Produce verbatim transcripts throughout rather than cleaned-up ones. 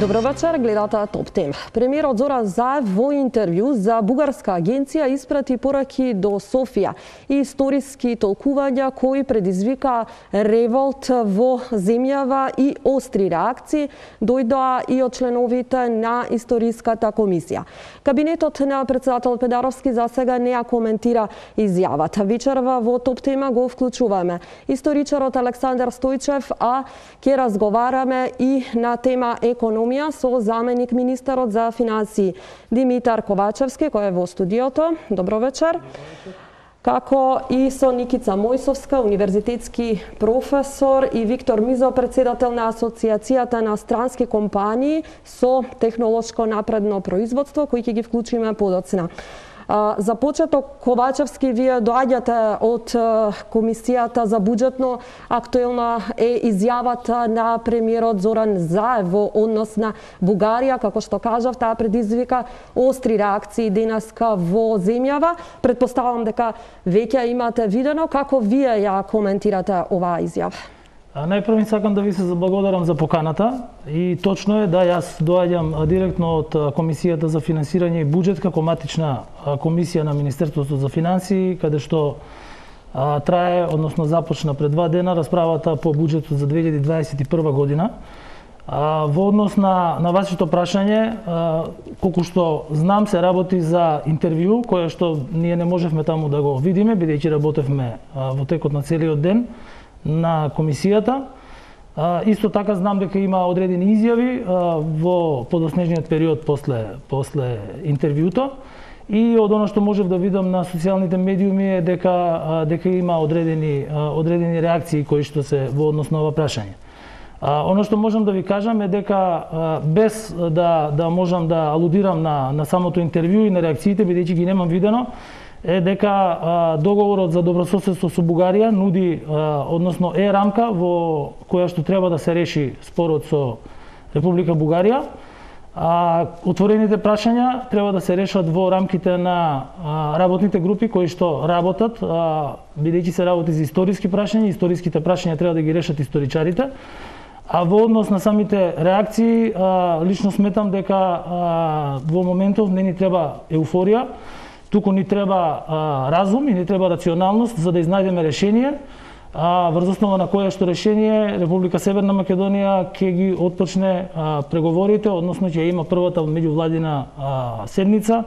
Добро вечер, гледате Топ Тем. Премиерот Зоран Заев во интервју за бугарска агенција испрати пораки до Софија и историски толкувања кои предизвика револт во земјава и остри реакции дојдоа и од членовите на историската комисија. Кабинетот на председател Педаровски за сега не ја коментира изјавата. Вечерва во Топ Тема го вклучуваме историчарот Александар Стојчев, а ќе разговараме и на тема економија со заменик министерот за финансии Димитар Ковачевски, кој е во студиото. Добро вечер. Како и со Никица Мојсовска, универзитетски професор, и Виктор Мизо, председател на Асоциацијата на странски компании со технолошко напредно производство, кои ќе ги вклучиме подоцна. За почеток, Ковачевски, вие доаѓате од Комисијата за буџетно. Актуелна е изјавата на премиерот Зоран Заев во однос на Бугарија, како што кажав, таа предизвика остри реакции денеска во земјава. Предпоставам дека веќе имате видено. Како вие ја коментирате оваа изјава? Најпрво сакам да ви се заблагодарам за поканата, и точно е да јас доаѓам директно од Комисијата за финансирање и буџет како матична комисија на Министерството за финансии, каде што а, трае, односно започна пред два дена расправата по буџетот за две илјади дваесет и прва година. А, во однос на, на вашето прашање, а, колку што знам, се работи за интервју, кое што ние не можевме таму да го видиме, бидејќи работевме а, во текот на целиот ден на комисијата. А, исто така знам дека има одредени изјави а, во подоснежниот период после, после интервјуто, и од оно што можев да видам на социјалните медиуми е дека, а, дека има одредени, а, одредени реакции кои што се во однос на ова прашање. А, оно што можам да ви кажам е дека а, без да, да можам да алудирам на, на самото интервју и на реакциите, бидејќи ги немам видено, е дека а, договорот за добрососедство со Бугарија нуди, а, односно е рамка во која што треба да се реши спорот со Република Бугарија. А отворените прашања треба да се решат во рамките на а, работните групи кои што работат, а, бидејќи се работи за историски прашања, историските прашања треба да ги решат историчарите. А во однос на самите реакции, а, лично сметам дека а, во моментов не ни треба еуфорија, туку ни треба а, разум и ни треба рационалност за да изнајдеме решение, а, врз основа на кое што решение Република Северна Македонија ќе ги отпочне а, преговорите, односно ќе има првата меѓувладина а, седница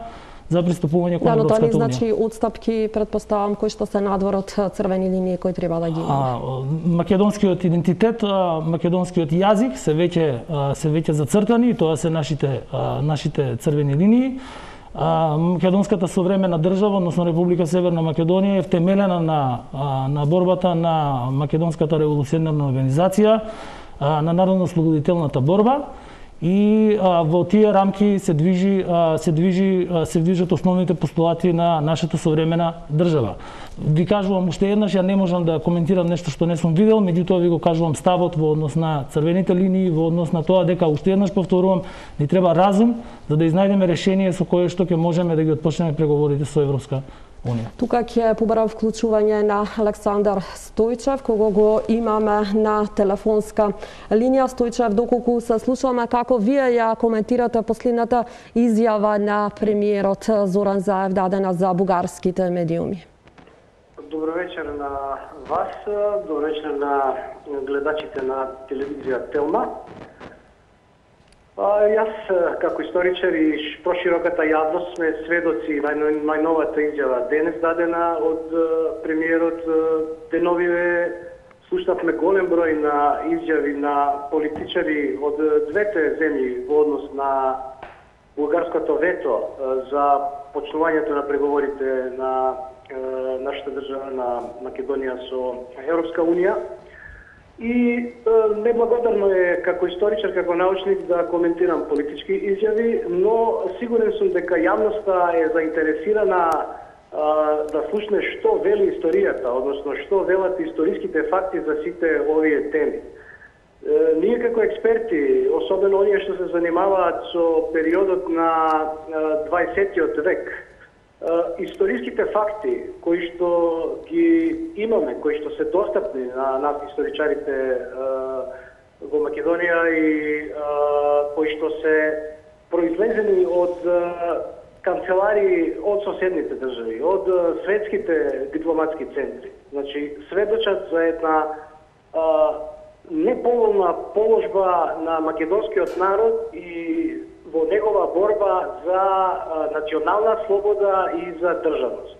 за пристапување кон Европската унија. Да, но тоа не значи отстапки, предпоставам, кои што се надвор од црвени линии кои треба да ги има. Македонскиот идентитет, а, македонскиот јазик се веќе а, се веќе зацртани, и тоа се нашите а, нашите црвени линии. Македонската современа држава, односно Република Северна Македонија, е втемелена на, на борбата на Македонската револуционарна организација, на народно-ослободителната борба, и а, во тие рамки се движи а, се движи а, се движат основните постулати на нашата современа држава. Ви кажувам уште еднаш, ја не можам да коментирам нешто што не сум видел, меѓутоа ви го кажувам ставот во однос на црвените линии, во однос на тоа дека, уште еднаш повторувам, ни треба разум за да изнајдеме решение со кое што ќе можеме да ги отпочнеме преговорите со Европска унија. Тука ќе побарам вклучување на Александар Стојчев, кого го имаме на телефонска линија. Стојчев, доколку се слушаме, како вие ја коментирате последната изјава на премиерот Зоран Заев дадена за бугарските медиуми? Добро вечер на вас, добро вечер на гледачите на телевизија Телма. А, јас, како историчар и прошироката јавност, сме сведоци на најновата изјава денес дадена од премиерот. Деновиве слушнавме голем број на изјави на политичари од двете земји во однос на бугарското вето за почнувањето на преговорите на нашата држава, на Македонија со Европска унија. И е, неблагодарно е како историчар, како научник да коментирам политички изјави, но сигурен сум дека јавноста е заинтересирана а, да слушне што вели историјата, односно што велат историските факти за сите овие теми. Е, ние како експерти, особено оние што се занимаваат со периодот на дваесеттиот век, историските факти кои што ги имаме, кои што се достапни на нас историчарите во Македонија и кои што се произлезени од канцелари од соседните држави, од светските дипломатски центри. Значи, сведочат за една а, неповолна положба на македонскиот народ и во негова борба за а, национална слобода и за државност.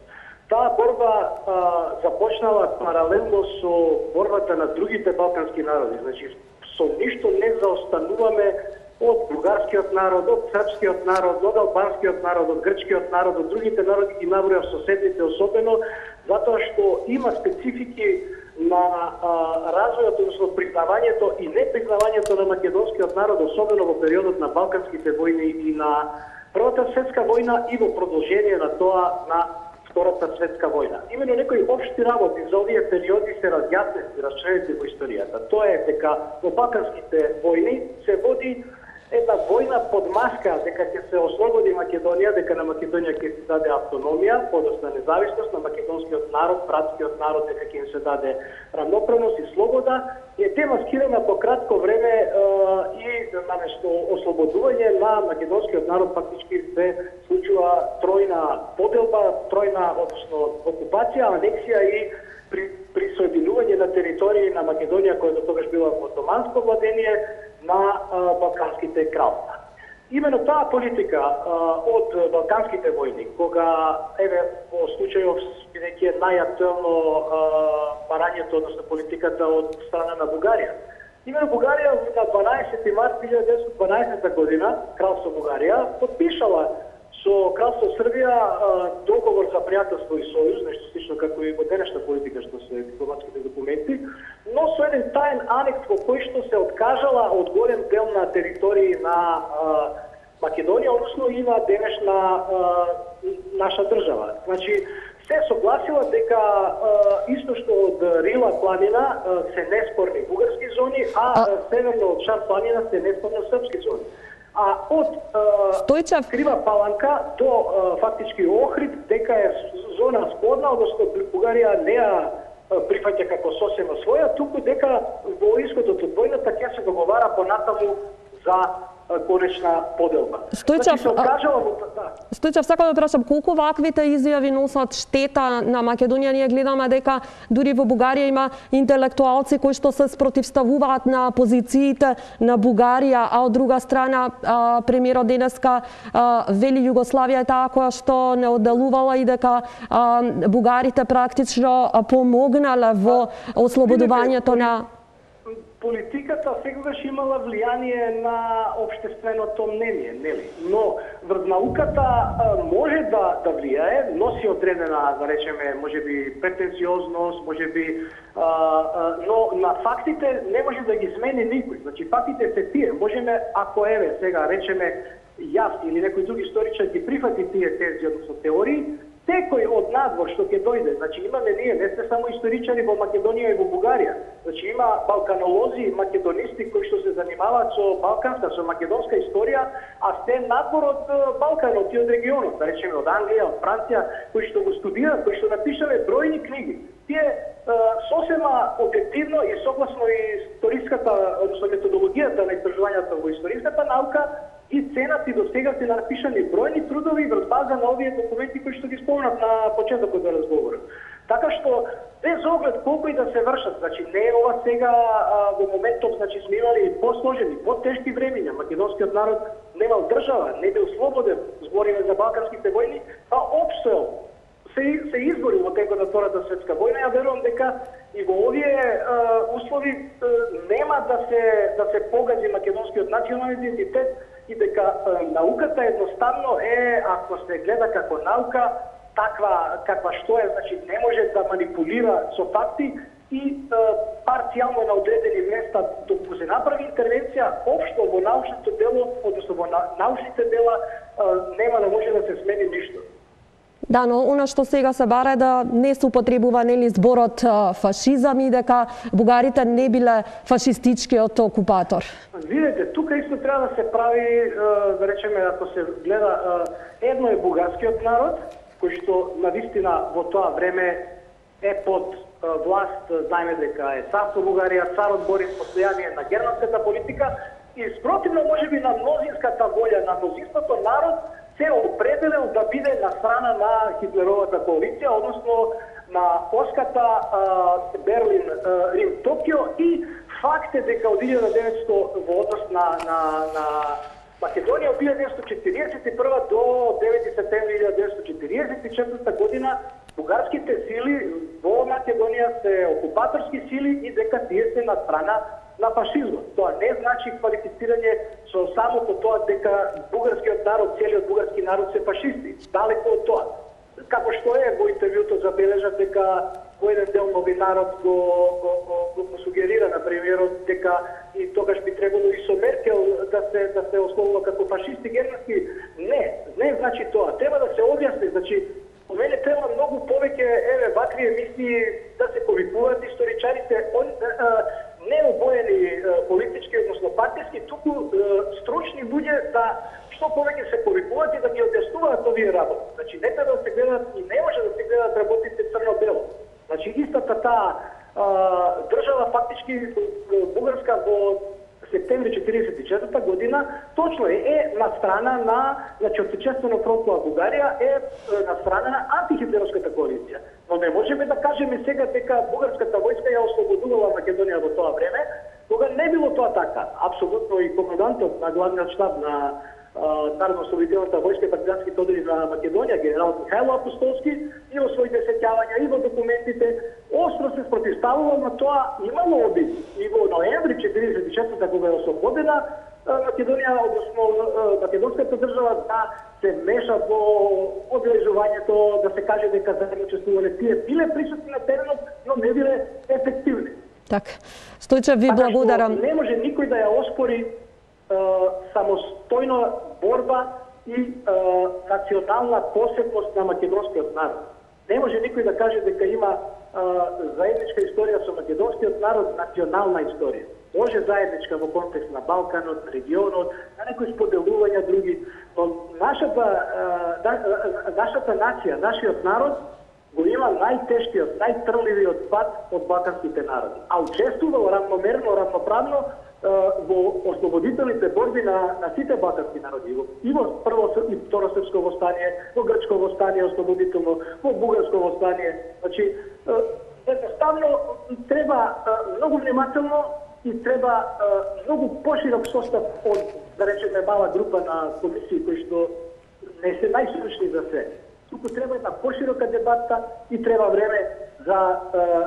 Таа борба а, започнала паралелно со борбата на другите балкански народи. Значи, со ништо не заостануваме од бугарскиот народ, од српскиот народ, од албанскиот народ, од грчкиот народ, од другите народи ги набројав соседните особено, затоа што има специфики на а, развојот, односно признавањето и непризнавањето на македонскиот народ, особено во периодот на балканските војни и на Првата светска војна и во продолжение на тоа на Втората светска војна. Имено некои општи работи за овие периоди се разјаснети, расчленети во историјата. Тоа е дека во балканските војни се води една војна под маска дека ќе се ослободи Македонија, дека на Македонија ќе се даде автономија, подосна независност на македонскиот народ, братскиот народ, дека ќе им се даде рамноправност и слобода, е демаскирана по кратко време е, и наместо ослободување на македонскиот народ фактички се случува тројна поделба, тројна, односно окупација, анексија и при присоединување на територии на Македонија, која до тогаш била во отоманско владение, на а, балканските кралства. Имено таа политика а, од балканските војни, кога, еве, во случајов, бидејќи е најактуелно барањето, односно политиката од страна на Бугарија. Имено Бугарија на дванаесети март илјада деветстотини и дванаесета година, Кралство Бугарија, подпишала со Кралство Србија договор за пријателство и сојуз, нешто слично како и во денешна политика што се дипломатските документи, но со еден таен анекс во кој што се откажала од голем дел на територии на а, Македонија, односно и на денешна а, наша држава. Значи, се согласила дека а, истошно од Рила планина а, се неспорни бугарски зони, а, а... северно од Шар планина се неспорни српски зони. А од е, Крива Паланка до е, фактички Охрид, дека е зона спорна, односно Бугарија не ја прифаќа како сосема своја, туку дека во исходот од војната ќе се договара понатаму за конечна поделба. Стојчев, значи, да. Стојчев, сакам да прашам, колку ваквите изјави носат штета на Македонија? Ние гледаме дека дури во Бугарија има интелектуалци кои што се спротивставуваат на позициите на Бугарија, а од друга страна а, премиерот денеска а, вели Југославија е таа која што не одделувала и дека а, бугарите практично помогнале во ослободувањето на политиката секогаш имала влијание на општественото мнение, нели? Но врз науката може да да влијае, носи одредена, да речеме, можеби претенциозност, можеби, а, а, но на фактите не може да ги смени никој. Значи фактите се тие. Можеме, ако еве сега речеме јас или некој друг историчар ги прифати тие тези, односно теории, секој од надвор што ќе дојде, значи имаме ние, не сте само историчари во Македонија и во Бугарија. Значи има балканолози, македонисти кои што се занимаваат со балканска, со македонска историја, а сте надвор од Балканот и од регионот, да речеме од Англија, од Франција, кои што го студираат, кои што напишале бројни книги. Тие е, сосема објективно и согласно историската, односно методологијата на истражувањето во историската наука, и ценат и до сега се напишани бројни трудови врз база на овие документи кои што ги спомнат на почетокот на разговорот. Така што, без оглед колку и да се вршат, значи не е ова сега а, во моментов, значи сме имали посложени, потешки времиња, македонскиот народ немал држава, не бил слободен, збориме за балканските војни, а опстоел. Се, се избори во текот на Втората светска војна, ја верувам дека и во овие е, услови е, нема да се да се погази македонскиот национален идентитет и дека е, науката едноставно е, ако се гледа како наука, таква каква што е, значи не може да манипулира со факти и е, парцијално на одредени места доколку се направи интервенција, општо во научното дело, односно во научните дела е, нема да може да се смени ништо. Да, но она што сега се бара е да не се употребува нели зборот фашизам и дека бугарите не биле фашистичкиот окупатор. Видете, тука исто треба да се прави, да речеме, ако се гледа, едно е бугарскиот народ, кој што навистина во тоа време е под власт, знаеме дека е царство Бугарија, царот Борис постојание на германската политика и спротивно можеби на мнозинската волја на мнозинството народ се определил да биде на страна на Хитлеровата коалиција, односно на оската Берлин, Рим, Токио и факт е дека од илјада и деветстотини во однос на, на, на Македонија од илјада деветстотини четиридесет и прва до девети септември илјада деветстотини четиридесет и четврта година бугарските сили во Македонија се окупаторски сили и дека тие се на страна на фашизмот. Тоа не значи квалифицирање со самото тоа дека бугарскиот народ, целиот бугарски народ се фашисти. Далеко од тоа. Како што е во интервјуто забележат дека во еден дел новинарот го, го, го, го, го сугерира на премиерот дека и тогаш би требало и со Меркел да се да се ословува како фашисти германски. Не, не значи тоа. Треба да се објасни, значи по мене треба многу повеќе еве вакви емисии да се повикуваат историчарите он не обоени политички, односно партиски, туку стручни луѓе да што повеќе се повикуваат и да ги објаснуваат овие работи. Значи не треба да се гледат и не може да се гледат работите црно-бело. Значи истата таа држава фактички бугарска во септември четиридесет и четврта година точно е, е на страна на значи Отечествено фронтова Бугарија е на страна на антихитлеровската коалиција. Но не можеме да кажеме сега дека бугарската војска ја ослободувала Македонија во тоа време, кога не било тоа така. Апсолутно и командантот на главниот штаб на Народно-ослободителната војска и партизанските одреди на Македонија, генералот Михајло Апостолски, и во своите сеќавања и во документите остро се спротивставува на тоа имало обид. И во ноември четиридесет и четврта кога е ослободена Македонија, односно македонската држава да се меша во обележувањето, да се каже дека заедничествувале тие биле присутни на теренот, но не биле ефективни. Така. Стојче, ви благодарам. Не може никој да ја оспори самостојна борба и е, национална посебност на македонскиот народ. Не може никој да каже дека има е, заедничка историја со македонскиот народ, национална историја. Може заедничка во контекст на Балканот, регионот, на некои споделувања други, но нашата, е, нашата нација, нашиот народ го има најтешкиот, најтрливиот пат од балканските народи. А учествувал равномерно, равноправно во ослободителните борби на, на сите балкански народи. И во прво и второ српско востание, во грчко востание ослободително, во бугарско востание. Значи, едноставно треба многу внимателно и треба многу поширок состав од, да речеме, мала група на комисии кои што не се најстручни за се. Туку треба една поширока дебата и треба време за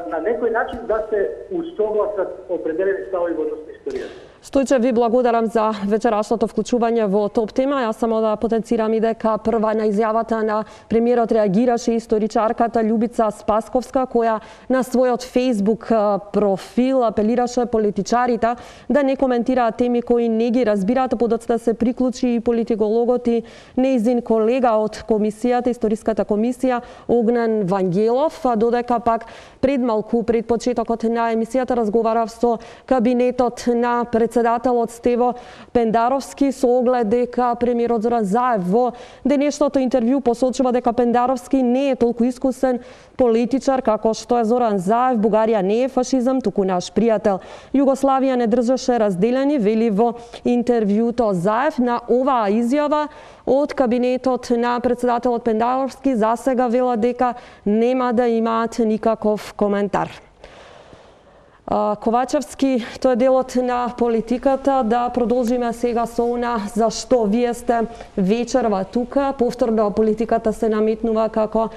на некој начин да се усогласат определени ставови во однос на историјата. Стојче, ви благодарам за вечерашното вклучување во топ тема. Јас само да потенцирам и дека прва на изјавата на премиерот реагираше историчарката Љубица Спасковска, која на својот Facebook профил апелираше политичарите да не коментираат теми кои не ги разбираат, подоцна се приклучи и политикологот и неизин колега од комисијата, историската комисија, Огнен Вангелов, додека пак пред малку, пред почетокот на емисијата разговарав со кабинетот на председателот Стево Пендаровски со оглед дека премиерот Зоран Заев во денешното интервју посочува дека Пендаровски не е толку искусен политичар како што е Зоран Заев. Бугарија не е фашизам, туку наш пријател. Југославија не држеше разделени, вели во интервјуто Заев. На оваа изјава од кабинетот на председателот Пендаровски засега вела дека нема да имаат никаков коментар. Ковачевски, тоа е делот на политиката. Да продолжиме сега со она за што вие сте вечерва тука. Повторно политиката се наметнува како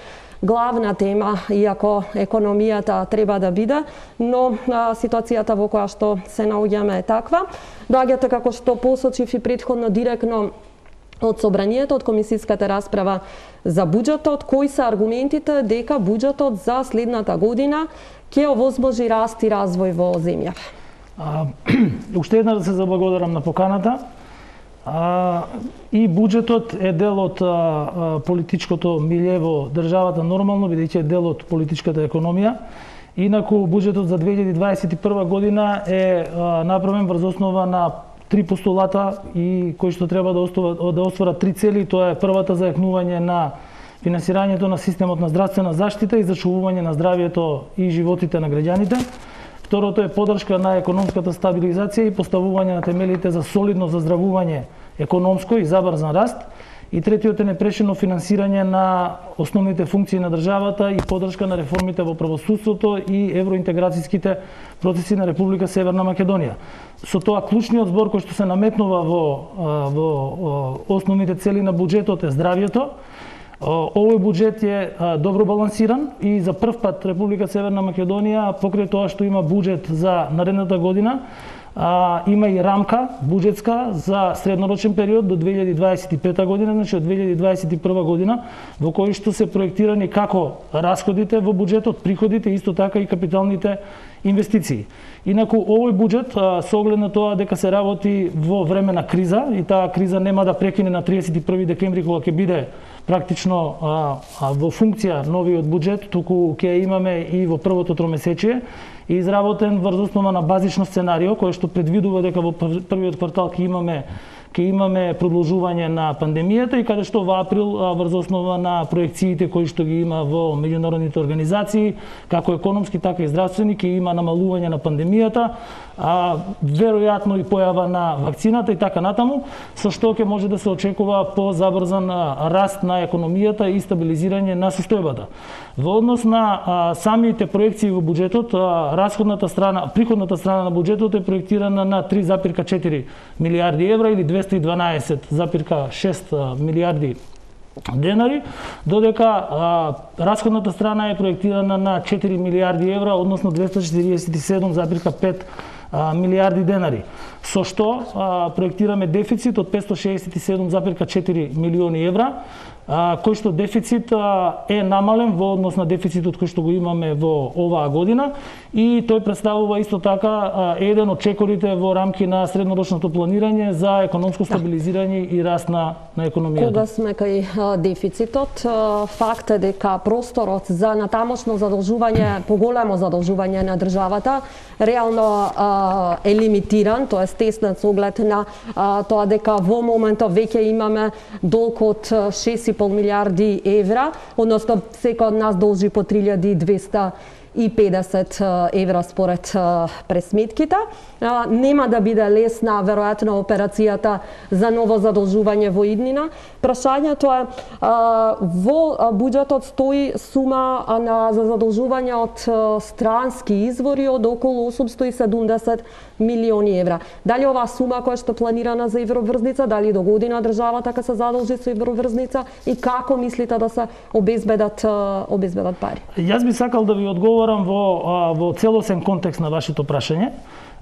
главна тема, иако економијата треба да биде, но а, ситуацијата во која што се наоѓаме е таква. Доаѓате, како што посочив и предходно, директно од собранието, од комисиската расправа за буџетот. Кои се аргументите дека буџетот за следната година ќе овозможи раст и развој во земјава? Уште една да се заблагодарам на поканата. А, и буџетот е дел од а, а, политичкото милје во државата нормално, бидејќи е дел од политичката економија. Инаку буџетот за две илјади дваесет и прва година е а, направен врз основа на три постулата и кои што треба да остварат да остварат три цели. Тоа е првата, зајакнување на финансирањето на системот на здравствена заштита и зачувување на здравјето и животите на граѓаните. Второто е поддршка на економската стабилизација и поставување на темелите за солидно заздравување економско и забрзан раст. И третиот е непрешено финансирање на основните функции на државата и поддршка на реформите во правосудството и евроинтеграцијските процеси на Република Северна Македонија. Со тоа клучниот збор кој што се наметнува во, во основните цели на буџетот е здравјето. Овој буџет е добро балансиран и за прв пат Република Северна Македонија, покрај тоа што има буџет за наредната година, А, има и рамка буџетска за среднорочен период до две илјади дваесет и пета година, значи од две илјади дваесет и прва година, во кој што се проектирани како расходите во буџетот, приходите, исто така и капиталните инвестиции. Инаку овој буџет, со оглед на тоа дека се работи во време на криза и таа криза нема да прекине на триесет и први декември кога ќе биде практично а, а, во функција новиот буџет, туку ќе имаме и во првото тромесечие и изработен врз основа на базично сценарио кој што предвидува дека во првиот квартал ќе имаме ќе имаме продолжување на пандемијата и каде што во април врз основа на проекциите кои што ги има во меѓународните организации, како економски така и здравствени, ќе има намалување на пандемијата, а веројатно и појава на вакцината и така натаму, со што ќе може да се очекува позабрзан раст на економијата и стабилизирање на состојбата. Во однос на а, самите проекции во буџетот, а, расходната страна, приходната страна на буџетот е проектирана на три запирка четири милијарди евра или двесте и дванаесет запирка шест милијарди денари, додека а, расходната страна е проектирана на четири милијарди евра, односно двесте четиридесет и седум запирка пет милијарди денари, со што а, проектираме дефицит од петстотини шеесет и седум запирка четири милиони евра, а, кој што дефицит а, е намален во однос на дефицитот кој што го имаме во оваа година и тој представува исто така а, еден од чекорите во рамки на среднорочното планирање за економско стабилизирање и раст на, на економијата. Кога сме кај а, дефицитот, а, факт е дека просторот за натамошно задолжување, поголемо задолжување на државата, реално а, е лимитиран, тоа е стеснат со оглед на а, тоа дека во моментот веќе имаме долг од шест и пол милијарди евра, односно секој од нас должи по три илјади и двесте и педесет евра според пресметките. Нема да биде лесна веројатно операцијата за ново задолжување во иднина. Прашањето е во буџетот стои сума на за задолжување од странски извори од околу осумстотини и седумдесет милиони евра. Дали оваа сума која што планирана за евроврзница, дали до година државата ќе се задолжи со евроврзница и како мислите да се обезбедат обезбедат пари? Јас би сакал да ви одговорам во во целосен контекст на вашето прашање.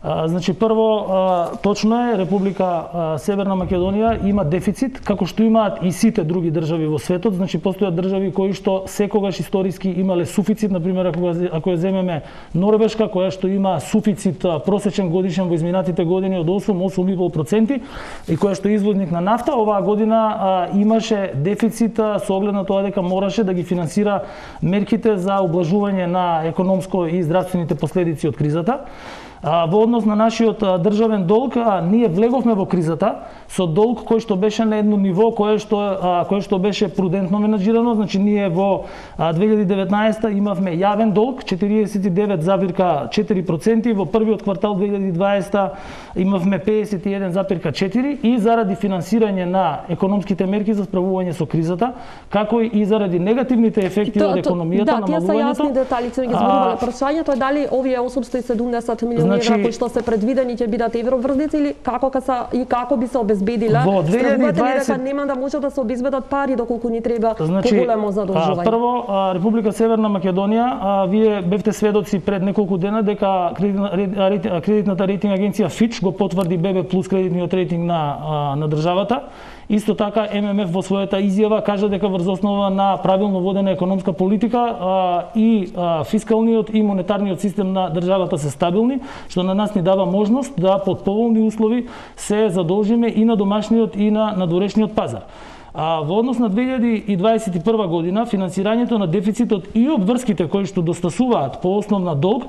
А, значи прво а, точно е Република а, Северна Македонија има дефицит како што имаат и сите други држави во светот. Значи постојат држави кои што секогаш историски имале суфицит, на пример ако ако ја земеме Норвешка која што има суфицит а, просечен годишен во изминатите години од осум до осум и пол проценти и која што е извозник на нафта, оваа година а, имаше дефицит а, со оглед на тоа дека мораше да ги финансира мерките за облажување на економско и здравствените последици од кризата. А, во однос на нашиот а, државен долг, а, ние влеговме во кризата со долг кој што беше на едно ниво кое што а, кое што беше прудентно менаџирано, значи ние во а, две илјади и деветнаесета имавме јавен долг четириесет и девет запирка четири проценти, во првиот квартал две илјади и дваесета имавме педесет и еден запирка четири и заради финансирање на економските мерки за справување со кризата, како и заради негативните ефекти то, од економијата, да, тие се јасни детали, ќе ги зборувале. Прашањето е дали овие осумстотини и седумдесет милиони евра кои што се предвидени ќе бидат евроврзници или како ка се и како би се обезбедиле? Во две илјади и дваесета дека нема да може да се обезбедат пари доколку ни треба значи, поголемо задолжување. Прво, а, Република Северна Македонија, а, вие бевте сведоци пред неколку дена дека кредитна, кредитната рейтинг агенција Fitch го потврди Б Б плюс кредитниот рейтинг на а, на државата. Исто така М М Ф во својата изјава кажа дека врз основа на правилно водена економска политика а, и а, фискалниот и монетарниот систем на државата се стабилни, што на нас ни дава можност да под поволни услови се задолжиме и на домашниот и на надворешниот пазар. А во однос на две илјади и дваесет и прва година финансирањето на дефицитот и обврските кои што достасуваат по основна долг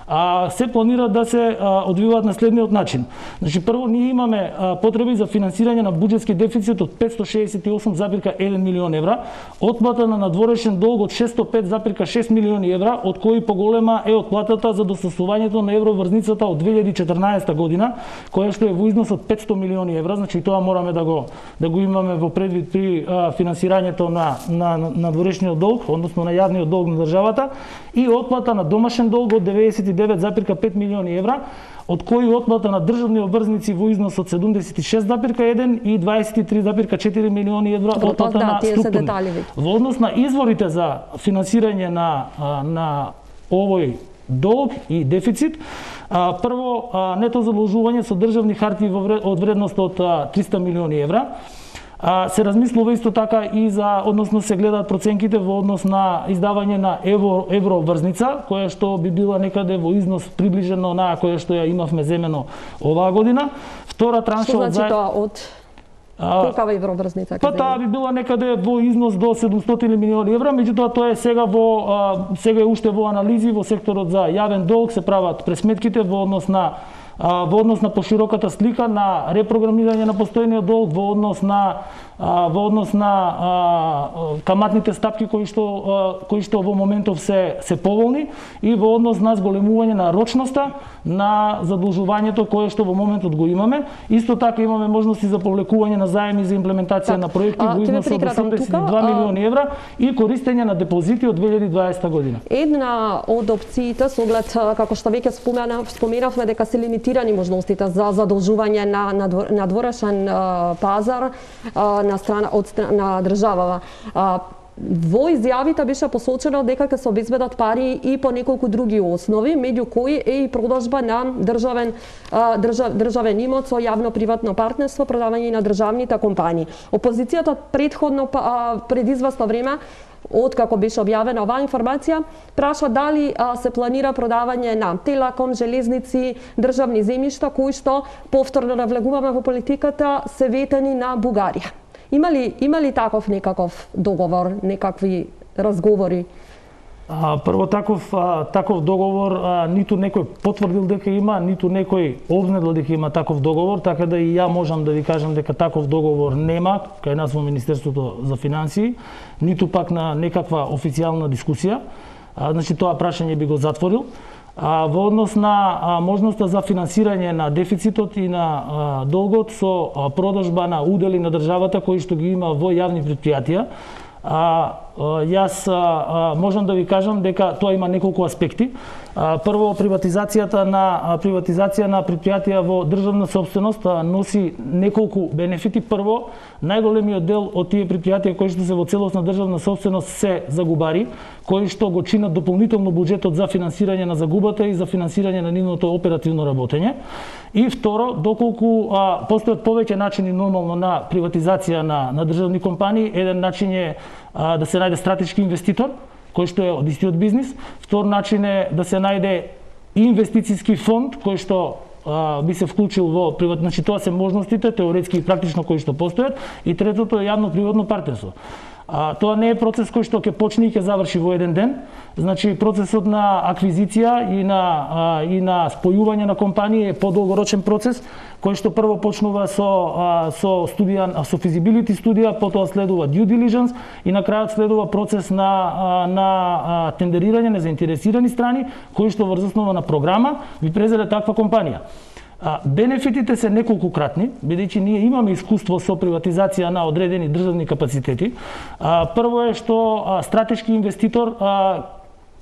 а, се планира да се а, одвиваат на следниот начин. Значи прво ние имаме а, потреби за финансирање на буџетски дефицит од петстотини шеесет и осум зарез еден милион евра, отплата на надворешен долг од шестстотини и пет зарез шест милиони евра, од кои поголема е отплатата за достасувањето на евроврзницата од две илјади и четрнаесетта година, која што е во износ од петстотини милиони евра, значи тоа мораме да го да го имаме во предвид при а, финансирањето на на надворешниот долг, односно на јавниот долг на државата, и отплата на домашен долг од деветдесет и девет зарез пет милиони евра, од кои отплата на државни обврзници во износ од седумдесет и шест зарез еден и дваесет и три зарез четири милиони евра отплата да, на структурни. Во однос на изворите за финансирање на на овој долг и дефицит, а, прво а, нето задолжување со државни хартии во вред, од вредност од а, триста милиони евра. А, се размислува исто така и за, односно се гледаат проценките во однос на издавање на евро евроврзница, која што би била некаде во износ приближено на која што ја имавме земено оваа година. Втора транша што значи од тоа од колкава евроврзница? Па таа би била некаде во износ до седумстотини милиони евра, меѓутоа тоа е сега во а, сега е уште во анализи во секторот за јавен долг, се прават пресметките во однос на а, во однос на пошироката слика на репрограмирање на постојниот долг, во однос на а, во однос на а, каматните стапки кои што а, кои што во моментов се се поволни и во однос на зголемување на рочноста на задолжувањето кое што во моментот го имаме. Исто така имаме можности за повлекување на заеми за имплементација так, на проекти во износ од осемдесет и два милиони евра и користење на депозити од две илјади и дваесета година. Една од опциите со оглед како што веќе спомена, споменавме дека се лимитирани можностите за задолжување на надворешен пазар на страна од страна на државава. Во изјавите беше посочено дека ќе се обезбедат пари и по неколку други основи, меѓу кои е и продажба на државен држав, државен имот со јавно-приватно партнерство, продавање на државните компании. Опозицијата претходно пред известно време, откако беше објавена оваа информација, праша дали а, се планира продавање на Телеком, железници, државни земјишта кои што повторно навлегуваме во политиката се ветени на Бугарија. Има ли, има ли таков некаков договор, некакви разговори? А, прво таков а, таков договор а, ниту некој потврдил дека има, ниту некој обнедил дека има таков договор, така да и ја можам да ви кажам дека таков договор нема кај нас во Министерството за финансии, ниту пак на некаква официјална дискусија. А, значи тоа прашање би го затворил. А, во однос на а, можноста за финансирање на дефицитот и на а, долгот со а, продажба на удели на државата кои што ги има во јавни претпријатија, а, а, јас а, можам да ви кажам дека тоа има неколку аспекти. А, прво, приватизацијата на а, приватизација на претпријатија во државна собственост а, носи неколку бенефити. Прво, најголемиот дел од тие претпријатија кои што се во целосна државна собственост се загубари, кои што го чинат дополнително буџетот за финансирање на загубата и за финансирање на нивното оперативно работење. И второ, доколку а, постојат повеќе начини нормално на приватизација на, на државни компании, еден начин е а, да се најде стратешки инвеститор, кој што е од истиот бизнис. Втор начин е да се најде инвестицијски фонд кој што а, би се вклучил во приват, значи тоа се можностите теоретски и практично кои што постојат, и третото е јавно-приватно партнерство. А, тоа не е процес кој што ќе почне и ќе заврши во еден ден. Значи процесот на аквизиција и на а, и на спојување на компании е подолгорочен процес кој што прво почнува со а, со студија, со физибилити студија, потоа следува due diligence и на крајот следува процес на а, на а, тендерирање на заинтересирани страни кои што врз основа на програма ви презеле таква компанија. А, бенефитите се неколкукратни, бидејќи ние имаме искуство со приватизација на одредени државни капацитети. А, прво е што а, стратешки инвеститор а,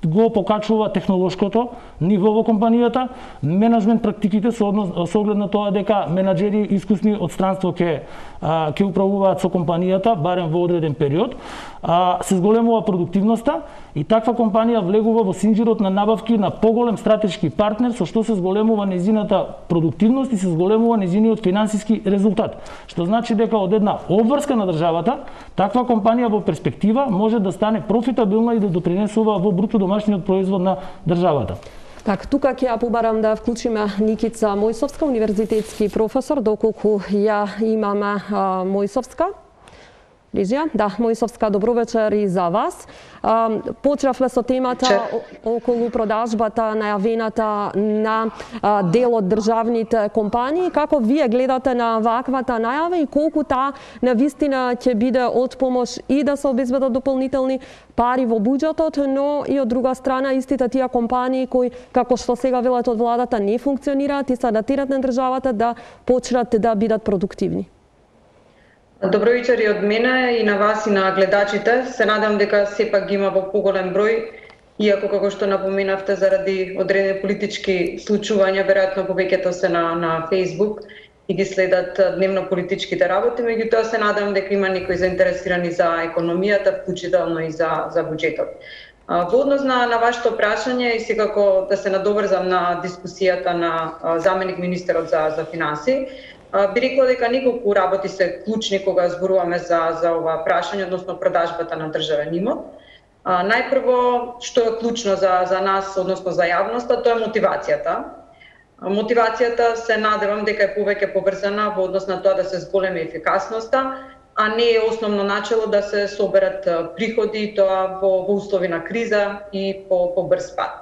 го покачува технолошкото ниво во компанијата, менеджмент практиките со, однос, со оглед на тоа дека менаџери искусни од странство ќе ќе управуваат со компанијата барем во одреден период, а, се зголемува продуктивноста и таква компанија влегува во синџирот на набавки на поголем стратешки партнер, со што се зголемува незината продуктивност и се зголемува незиниот финансиски резултат. Што значи дека од една обврска на државата, таква компанија во перспектива може да стане профитабилна и да допринесува во бруто домашниот производ на државата. Так, тука ќе ја побарам да вклучиме Никица Мојсовска, универзитетски професор, доколку ја имаме а, Мојсовска. Лижија, да, Мојсовска, добро вечер и за вас. Почнавме со темата околу продажбата најавената на дел од државните компании. Како вие гледате на ваквата најава и колку таа навистина ќе биде од помош и да се обезбедат дополнителни пари во буџетот, но и од друга страна истите тие компании кои, како што сега велат од владата, не функционираат и се адаптираат на државата да почнат да бидат продуктивни? Добро вечер и од мене, и на вас, и на гледачите. Се надам дека сепак ги има во поголем број, иако како што напоменавте заради одредени политички случувања, веројатно повеќето се на, на Facebook и ги следат дневно политичките работи, меѓутоа се надам дека има некои заинтересирани за економијата, вклучително и за, за буџетот. Во однос на, на вашето прашање и секако да се надоврзам на дискусијата на заменик министерот за, за финанси, би рекла дека неколку работи се клучни кога зборуваме за, за ова прашање, односно продажбата на државен имот. А, најпрво, што е клучно за, за нас, односно за јавноста, тоа е мотивацијата. Мотивацијата се надевам дека е повеќе поврзана во однос на тоа да се зголеми ефикасноста, а не е основно начело да се соберат приходи, тоа во, во услови на криза и по, по брз пат.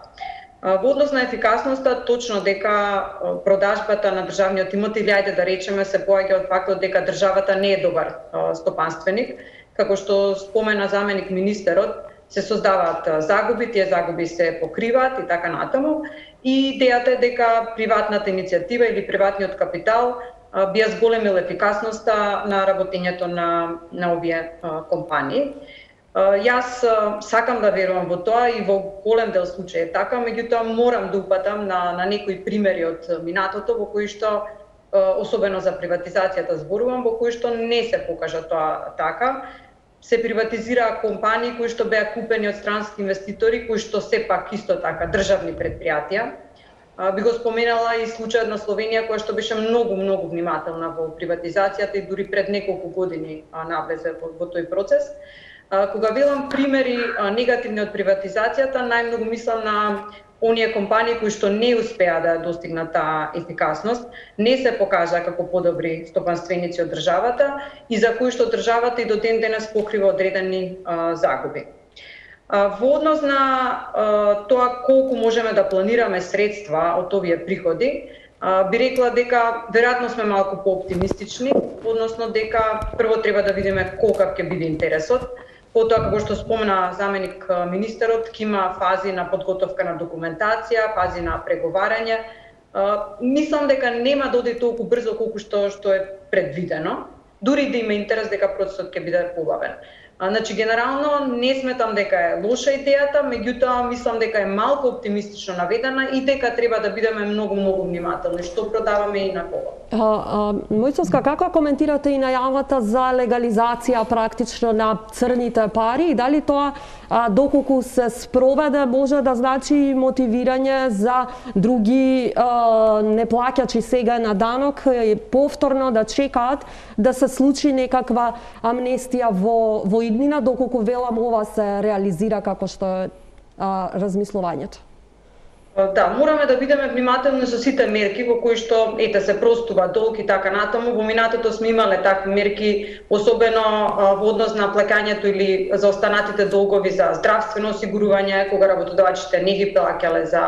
Во однос на ефикасноста, точно дека продажбата на државниот имот, или ајде да речеме, се поаѓа од фактот дека државата не е добар стопанственик, како што спомена заменик министерот, се создаваат загуби, тие загуби се покриваат и така натаму. И идејата е дека приватната иницијатива или приватниот капитал би ја зголемил ефикасноста на работењето на, на овие компании. Јас сакам да верувам во тоа и во голем дел случаи е така, меѓутоа морам да упатам на, на некои примери од минатото во кои што, особено за приватизацијата зборувам, во кои што не се покажа тоа така. Се приватизираа компании кои што беа купени од странски инвеститори, кои што сепак исто така државни предпријатија. Би го споменала и случајот на Словенија, која што беше многу, многу внимателна во приватизацијата и дури пред неколку години навлезе во, во тој процес. Кога велам примери негативни од приватизацијата, најмногу мислам на оние компании кои што не успеа да достигнат таа ефикасност, не се покажа како подобри стопанственици од државата и за кои што државата и до ден денес покрива одредени а, загуби. А, во однос на а, тоа колку можеме да планираме средства од овие приходи, а, би рекла дека веројатно сме малку пооптимистични, односно дека прво треба да видиме колкав ќе биде интересот. Потоа, како што спомена заменик министерот, ќе има фази на подготовка на документација, фази на преговарање. Мислам дека нема да оди толку брзо колку што што е предвидено, дури да има интерес дека процесот ќе биде побавен. Значи, генерално не сметам дека е лоша идејата, меѓутоа мислам дека е малку оптимистично наведена и дека треба да бидеме многу многу внимателни што продаваме и на кого. Мојсовска, како коментирате и најавата за легализација практично на црните пари и дали тоа а, доколку се спроведе може да значи мотивирање за други а, неплаќачи сега на данок и повторно да чекаат да се случи некаква амнестија во во иднина, доколку велам ова се реализира како што е а, размислувањето? Да, мораме да бидеме внимателни со сите мерки во кои што ете се простува долг и така натаму. Во минатото сме имале такви мерки, особено а, во однос на плаќањето или за останатите долгови за здравствено осигурување, кога работодавачите не ги плаќале за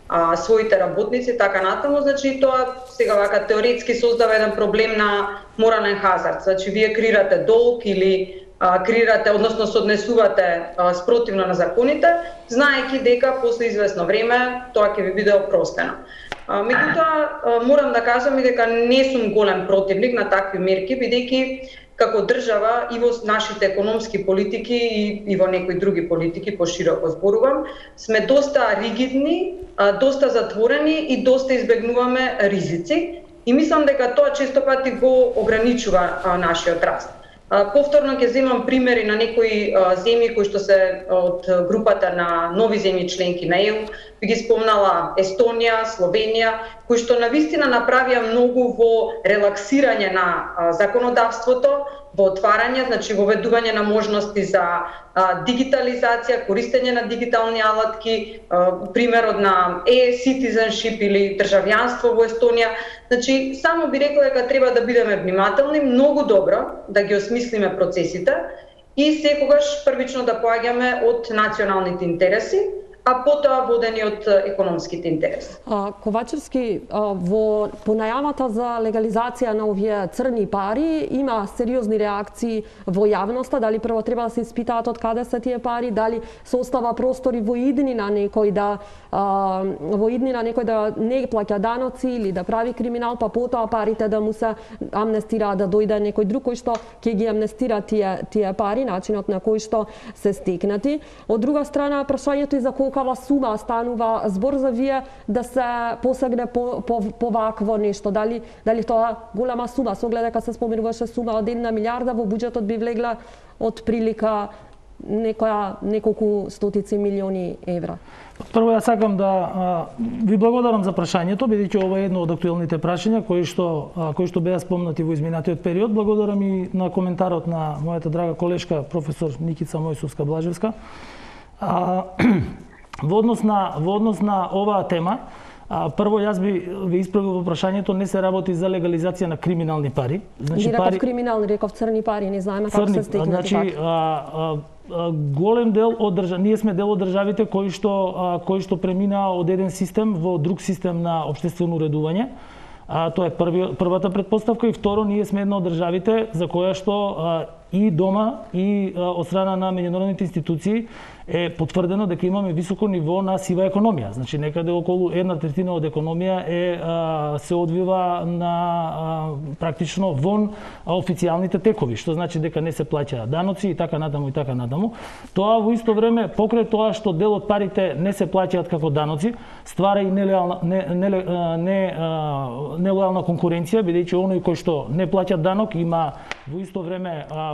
а, своите работници, така натаму. Значи тоа сега вака теоретски создава еден проблем на морален хазард. Значи вие креирате долг или креирате, односно се однесувате а, спротивно на законите, знаејќи дека после известно време тоа ќе ви биде опростено. Меѓутоа, морам да кажам и дека не сум голем противник на такви мерки, бидејќи како држава и во нашите економски политики и, и во некои други политики, пошироко зборувам, сме доста ригидни, а, доста затворени и доста избегнуваме ризици и мислам дека тоа често пати го ограничува а, нашиот раст. Повторно ќе земам примери на некои земји кои што се од групата на нови земји членки на Е У, би ги спомнала Естонија, Словенија, кои што навистина направија многу во релаксирање на законодавството, во отварање, значи во введување на можности за а, дигитализација, користење на дигитални алатки, а, примерот на e-citizenship или државјанство во Естонија. Значи, само би рекла дека треба да бидеме внимателни, многу добро да ги осмислиме процесите и секогаш првично да поаѓаме од националните интереси, а потоа водени од економските интереси. А, Ковачевски, а, во понајавата за легализација на овие црни пари има сериозни реакции во јавноста, дали прво треба да се испитаат од каде се тие пари, дали се остава простори во иднина некој да а, во иднина некој да не плаќа даноци или да прави криминал, па потоа парите да му се амнестираат, да дојде некој друг кој што ќе ги амнестира тие тие пари, начинот на кој што се стекнати. Од друга страна, прашањето и за колкава сума станува збор за вие да се посегне по, по, по вакво нешто. Дали, дали тоа голема сума, со оглед дека се споменуваше сума од една милиарда, во буџетот би влегла од прилика некоја неколку стотици милиони евра. Прво ја сакам да а, ви благодарам за прашањето, бидејќи ова е едно од актуелните прашања кои што а, кои што беа спомнати во изминатиот период. Благодарам и на коментарот на мојата драга колешка професор Никица Мојсовска-Блажевска. А, во однос на во однос на оваа тема, а, прво јас би ви исправил во прашањето, не се работи за легализација на криминални пари. Значи не пари криминални, реков црни пари, не знаеме како се стекнати. Значи а, а, а, голем дел од држав... ние сме дел од државите кои што а, кои што преминаа од еден систем во друг систем на општествено уредување. А, тоа е први, првата предпоставка, и второ, ние сме една од државите за која што а, и дома и а, од страна на меѓународните институции е потврдено дека имаме високо ниво на сива економија. Значи некаде околу една третина од економија е а, се одвива на а, практично вон а, официјалните текови, што значи дека не се плаќаат даноци и така натаму и така натаму. Тоа во исто време, покрај тоа што дел од парите не се плаќаат како даноци, ствара и нелојална не, не, не, нелојална конкуренција, бидејќи оној кој што не плаќа данок има во исто време а,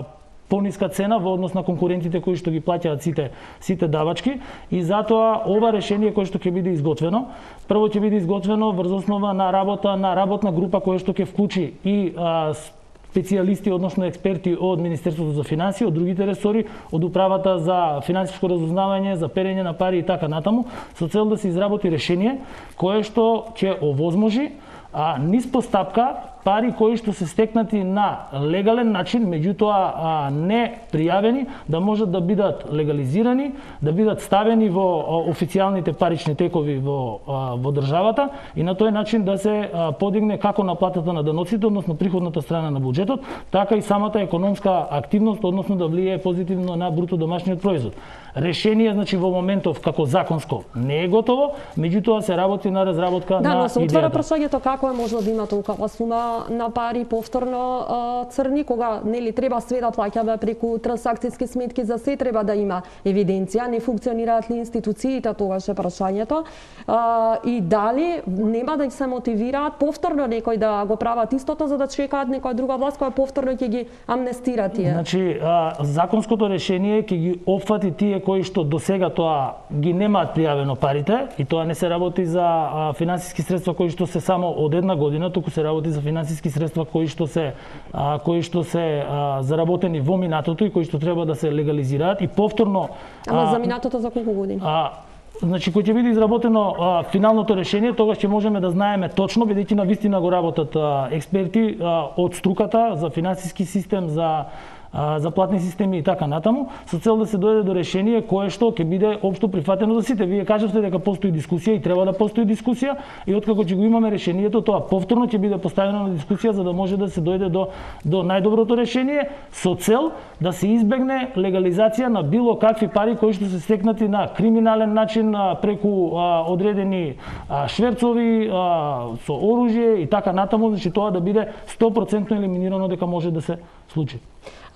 пониска цена во однос на конкурентите кои што ги плаќаат сите сите давачки, и затоа ова решение кое што ќе биде изготвено, прво ќе биде изготвено врз основа на работа на работна група која што ќе вклучи и а, специјалисти, односно експерти од Министерството за финансии, од другите ресори, од управата за финансиско разузнавање, за перење на пари и така натаму, со цел да се изработи решение кое што ќе овозможи а, низ постапка пари кои што се стекнати на легален начин, меѓутоа а, не пријавени, да можат да бидат легализирани, да бидат ставени во а, официјалните парични текови во, а, во државата, и на тој начин да се а, подигне како наплатата на даноците, односно приходната страна на буџетот, така и самата економска активност, односно да влијае позитивно на бруто домашниот производ. Решение, значи, во моментов како законско не е готово, меѓутоа се работи на разработка да, на идејата. Да, но се отвара прашањето како е можно да има толкова сума на пари повторно а, црни, кога нели треба све да плаќаме преку трансакцијски сметки, за се треба да има евиденција, не функционираат ли институциите, тогаш е прашањето. А, и дали нема да се мотивираат повторно некој да го прават истото, за да чекаат некоја друга власт која повторно ќе ги амнестира тие. Значи, а, законското решение ќе ги опфати тие кои што досега тоа ги немаат пријавено парите, и тоа не се работи за а, финансиски средства кои што се само од една година, туку се работи за финансиски средства кои што се а, кои што се а, заработени во минатото и кои што треба да се легализираат и повторно. Ама а, за минатото за колку години? А, значи, кој ќе биде изработено а, финалното решение, тогаш ќе можеме да знаеме точно, бидејќи на вистина го работат а, експерти а, од струката за финансиски систем, за за платни системи и така натаму, со цел да се дојде до решение кое што ќе биде општо прифатено за сите. Вие кажавте дека постои дискусија и треба да постои дискусија, и откако ќе го имаме решението, тоа повторно ќе биде поставено на дискусија за да може да се дојде до до најдоброто решение, со цел да се избегне легализација на било какви пари кои што се стекнати на криминален начин преку а, одредени а, шверцови а, со оружје и така натаму, значи тоа да биде сто проценти елиминирано дека може да се случи.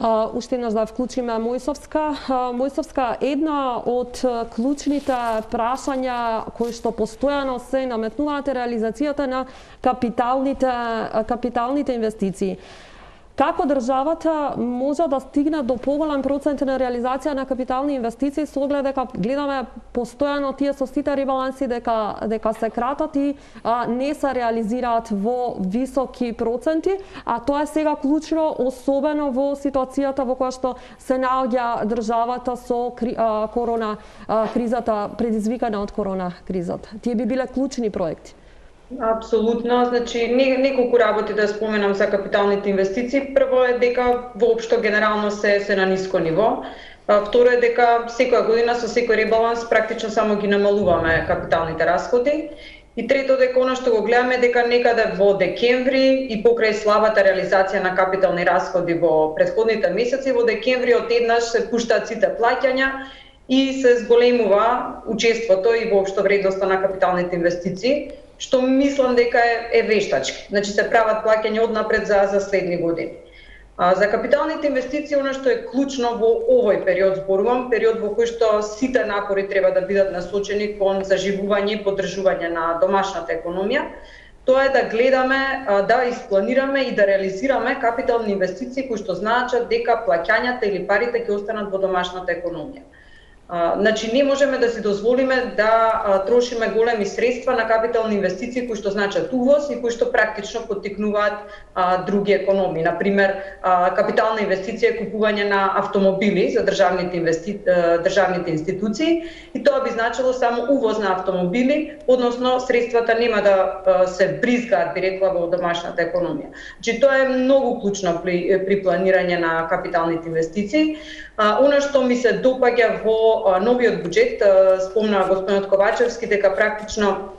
Uh, уште еднаш да вклучиме Мојсовска. Uh, Мојсовска, една од клучните прашања кои што постојано се наметнуваат е реализацијата на капиталните, капиталните инвестиции. Како државата може да стигне до поголем процент на реализација на капитални инвестиции, со оглед дека гледаме постојано тие со сите ребаланси дека дека се кратат и а, не се реализираат во високи проценти, а тоа е сега клучно, особено во ситуацијата во која што се наоѓа државата со кри, а, корона а, кризата, предизвикана од корона кризата. Тие би биле клучни проекти. Апсолутно, значи неколку работи да споменам за капиталните инвестиции. Прво е дека воопшто генерално се се на ниско ниво. Второ е дека секоја година со секој ребаланс практично само ги намалуваме капиталните расходи. И трето дека она што го гледаме дека некаде во декември и покрај слабата реализација на капитални расходи во претходните месеци, во декември одеднаш се пуштаат сите плаќања и се зголемува учеството и воопшто вредноста на капиталните инвестиции, што мислам дека е, е вештачки. Значи се прават плаќања однапред за, за следни години. А, за капиталните инвестиции, оно што е клучно во овој период, зборувам, период во кој што сите напори треба да бидат насочени кон заживување и поддржување на домашната економија, тоа е да гледаме, да испланираме и да реализираме капитални инвестиции кои што значат дека плаќањата или парите ќе останат во домашната економија. А, значи не можеме да си дозволиме да а, трошиме големи средства на капитални инвестиции кои што значат увоз и кои што практично поттикнуваат а, други економии. Например, а, капитална инвестиција е купување на автомобили за државните, инвести... државните институции и тоа би значило само увоз на автомобили, односно средствата нема да а, се бризгаат, би рекла, во домашната економија. Значи тоа е многу клучно при, при планирање на капиталните инвестиции. А, она што ми се допаѓа во а, новиот буџет, а, спомна господинот Ковачевски дека практично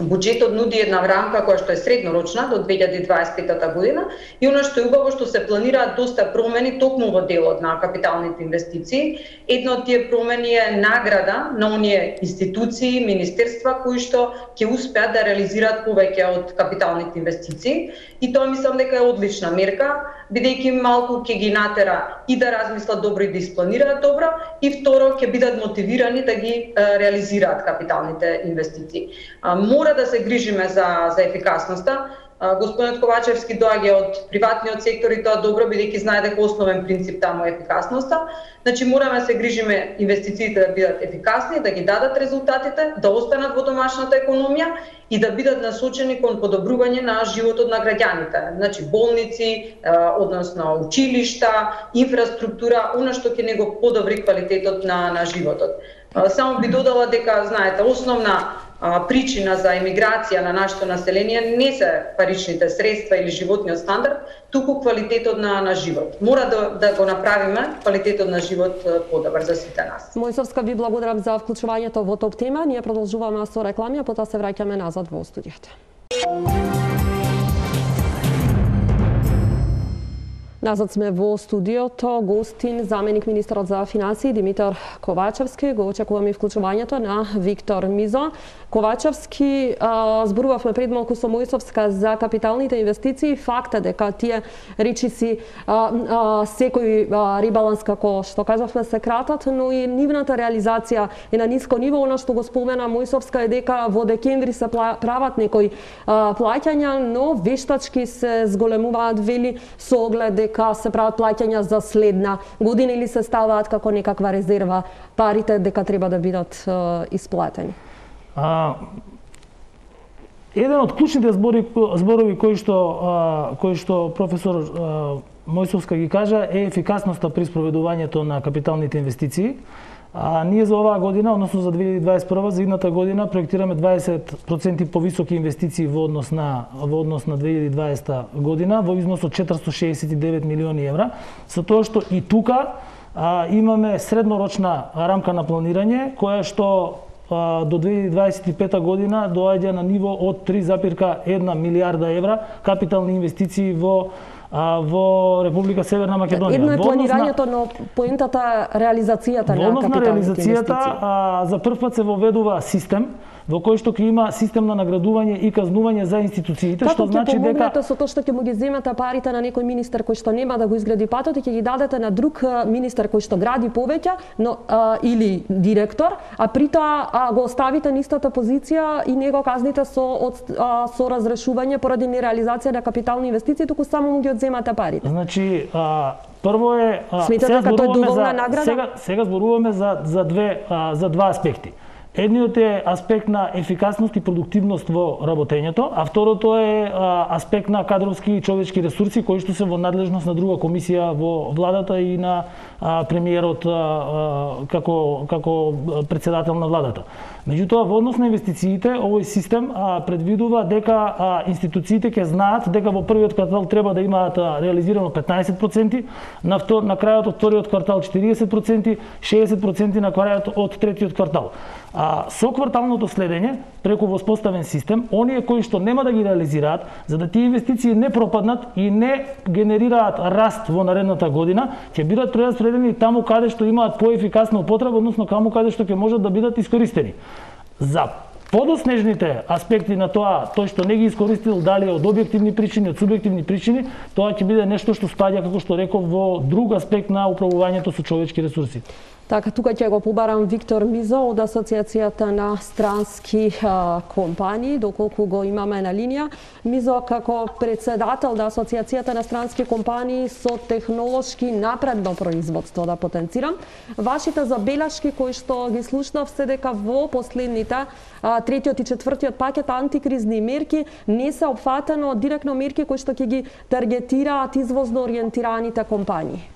буџетот нуди една рамка која што е среднорочна до две илјади дваесет и пета година и она што е убаво што се планираат доста промени токму во делот на капиталните инвестиции. Една од тие промени е награда на оние институции, министерства кои што ќе успеат да реализираат повеќе од капиталните инвестиции и тоа мислам дека е одлична мерка, бидејќи малку ќе ги натера и да размислат добро и да испланираат добро и второ ќе бидат мотивирани да ги е, реализираат капиталните инвестиции. А, мора да се грижиме за за ефикасноста. Господинот Ковачевски доаѓа од приватниот сектор и тоа добро, бидејќи знае дека основен принцип таму е ефикасноста. Значи мораме да се грижиме инвестициите да бидат ефикасни, да ги дадат резултатите, да останат во домашната економија и да бидат насочени кон подобрување на животот на граѓаните. Значи болници, односно училишта, инфраструктура, она што ќе него подобри квалитетот на на животот. Само би додала дека знаете, основна причина за емиграција на нашето население не се паричните средства или животниот стандард, туку квалитетот на на живот. Мора да да го направиме квалитетот на живот подобар за сите нас. Мојсовска, ви благодарам за вклучувањето во топ тема. Ние продолжуваме со реклами, а потоа се враќаме назад во студиото. Назад сме во студиото, гостин, заменик министерот за финансии Димитар Ковачевски. Го очекуваме и вклучувањето на Виктор Мизо. Ковачевски, зборувавме пред малку со Мојсовска за капиталните инвестиции. Факт е дека тие речиси секој ребаланс, како што кажавме, се кратат, но и нивната реализација е на ниско ниво. Она што го спомена Мојсовска е дека во декември се прават некои плаќања, но вештачки се зголемуваат, вели, со оглед дека се прават плаќања за следна година или се ставаат како некаква резерва парите дека треба да бидат е, исплатени. А, еден од клучните збори, зборови кои што а, кои што професор а, Мојсовска ги кажа е ефикасноста при спроведувањето на капиталните инвестиции. А ние за оваа година, односно за две илјади дваесет и прва, за идната година проектираме дваесет проценти повисоки инвестиции во однос на во однос на две илјади дваесета година во износ од четиристотини шеесет и девет милиони евра, со тоа што и тука а, имаме среднорочна рамка на планирање која што а, до две илјади дваесет и пета година доаѓа на ниво од три запирка една милијарда евра капитални инвестиции во А, во Република Северна Македонија. Едно е планирањето, но поентата реализацијата на капиталните инвестиции. А, за прв пат се воведува систем во кој што ќе има систем на наградување и казнување за институциите, Како што значи дека со тоа што ќе му ги земете парите на некој министер кој што нема да го изгради патот и ќе ги дадете на друг министер кој што гради повеќе, но а, или директор, а при тоа а, го оставите на истата позиција и не го казните со од, а, со разрешување поради нереализација на капитални инвестиции, туку само му ги од земата парите? Значи, а, прво е а, Сметате дека тоа е доволна награда? Сега сега зборуваме за за две а, за два аспекти. Едниот е аспект на ефикасност и продуктивност во работењето, а второто е а, аспект на кадровски и човечки ресурси кои што се во надлежност на друга комисија во владата и на а, премиерот а, а, како како претседател на владата. Меѓутоа, во однос на инвестициите, овој систем а, предвидува дека а, институциите ќе знаат дека во првиот квартал треба да имаат а, реализирано петнаесет проценти, на, втор, на крајот од вториот квартал четириесет проценти, шеесет проценти на крајот од третиот квартал. А, со кварталното следење, преку воспоставен систем, оние кои што нема да ги реализираат, за да тие инвестиции не пропаднат и не генерираат раст во наредната година, ќе бидат прераспределени таму каде што имаат поефикасна употреба, односно таму каде што ќе можат да бидат искористени. За подоснежните аспекти на тоа, тој што не ги искористил дали од објективни причини, од субјективни причини, тоа ќе биде нешто што спаѓа, како што реков, во друг аспект на управувањето со човечки ресурси. Така, тука ќе го побарам Виктор Мизо од Асоциацијата на странски а, компании, доколку го имаме на линија. Мизо, како председател на Асоциацијата на странски компании со технолошки напредно производство, да потенцирам, вашите забелешки кои што ги слушнав се дека во последните а, третиот и четвртиот пакет антикризни мерки не се опфатено директно мерки кои што ќе ги таргетираат извозно ориентираните компании.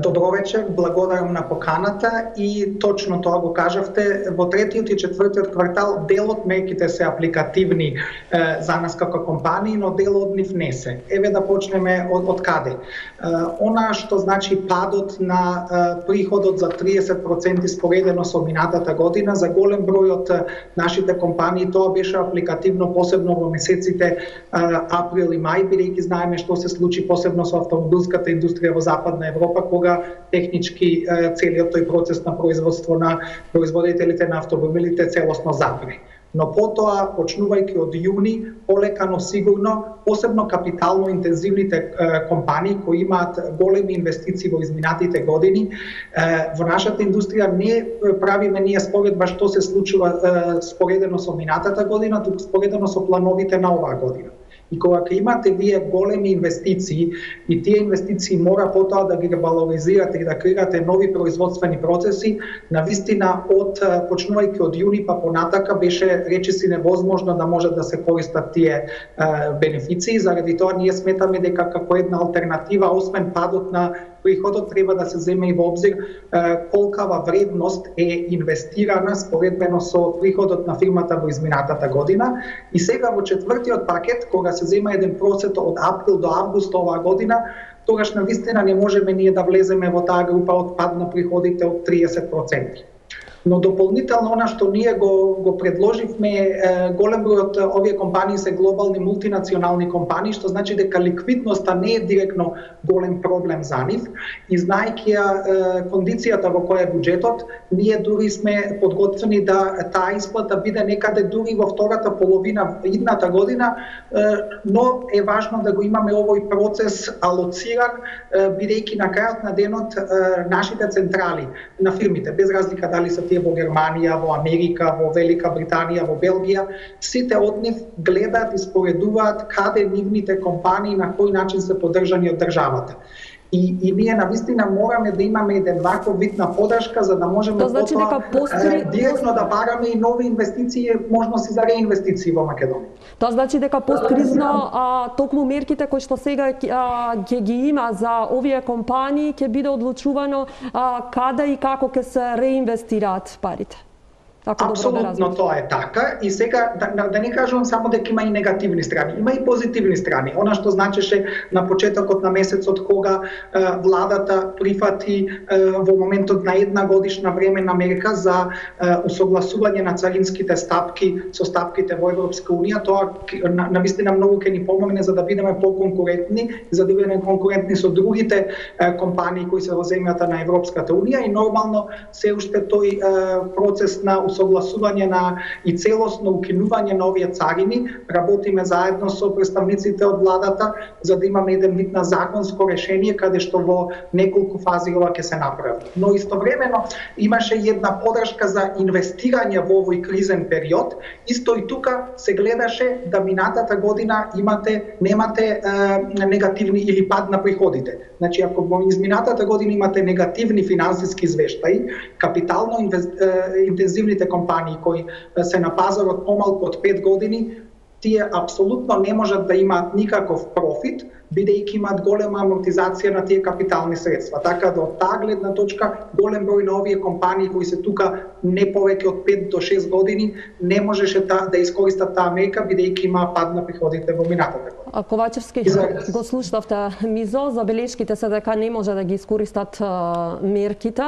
Добро вечер, благодарам на поканата и точно тоа го кажавте. Во третиот и четвртиот квартал дел од мерките се апликативни е, за нас како компании, но дел од нив не се. Еве да почнеме од, од каде. Е, она што значи падот на е, приходот за триесет проценти споредено со минатата година, за голем број од нашите компании тоа беше апликативно, посебно во месеците е, април и мај, бидејќи знаеме што се случи посебно со автомобилската индустрија во Западна Европа, кога технички целиот тој процес на производство на производителите на автомобилите целосно запре. Но потоа, почнувајќи од јуни, полекано сигурно, посебно капитално интензивните е, компании кои имаат големи инвестиции во изминатите години, е, во нашата индустрија не правиме ние споредба што се случува е, споредено со минатата година, туку споредено со плановите на оваа година. И кога ќе имате вие големи инвестиции и тие инвестиции мора потоа да ги ревалоризирате и да креирате нови производствени процеси, навистина од почнувајќи од јуни па понатака беше речиси невозможно да може да се користат тие е, бенефиции. Заради тоа ние сметаме дека како една алтернатива, освен падот на приходот, треба да се земе и во обзир е, колкава вредност е инвестирана споредбено со приходот на фирмата во изминатата година. И сега во четвртиот пакет, кога се зема еден процент од април до август оваа година, тогаш навистина не можеме ние да влеземе во таа група од пад на приходите од триесет проценти. Но дополнително она што ние го, го предложивме, е, голем број од овие компании се глобални мултинационални компании, што значи дека ликвидноста не е директно голем проблем за нив. И знаејќи ја е, кондицијата во која е буџетот, ние дури сме подготвени да таа исплата биде некаде дури во втората половина идната година, е, но е важно да го имаме овој процес алоциран, е, бидејќи на крајот на денот е, нашите централи на фирмите, без разлика дали се во Германија, во Америка, во Велика Британија, во Белгија, сите од нив гледаат и споредуваат каде нивните компании на кој начин се поддржани од државата. И, и ние навистина мораме да имаме еден ваков вид на поддршка за да можеме тоа значи потоа постри... директно да бараме и нови инвестиции, можности за реинвестиции во Македонија. Тоа значи дека посткризно а, токму мерките кои што сега ќе ги има за овие компании ќе биде одлучувано а, каде и како ќе се реинвестираат парите. Апсолутно тоа е така и сега да, да, да не кажувам само дека има и негативни страни, има и позитивни страни. Она што значеше на почетокот на месецот кога е, владата прифати е, во моментот на една годишна временна мерка за е, усогласување на царинските стапки со стапките во Европска унија, тоа на, навистина многу ќе ни помогне за да бидеме поконкурентни, за да бидеме конкурентни со другите е, компании кои се во земјата на Европската унија и нормално се уште тој е, процес на усогласување на и целосно укинување на овие царини. Работиме заедно со представниците од владата за да имаме еден вид на законско решение каде што во неколку фази ова ќе се направи. Но истовремено имаше една подршка за инвестирање во овој кризен период. Исто и тука се гледаше да минатата година имате немате е, негативни или пад на приходите. Значи ако во изминатата година имате негативни финансиски извештаи, капитално инвест, е, интензивните компании кои се на пазарот помалку од пет години, тие апсолутно не можат да имаат никаков профит, бидејќи имаат голема амортизација на тие капитални средства. Така да од таа гледна точка голем број на овие компании кои се тука не повеќе од пет до шест години не можеше та, да искористат таа мека бидејќи има пад на приходите во минатата година. А Ковачевски, го слушнавте Мизо, забелешките се дека не може да ги искористат а, мерките,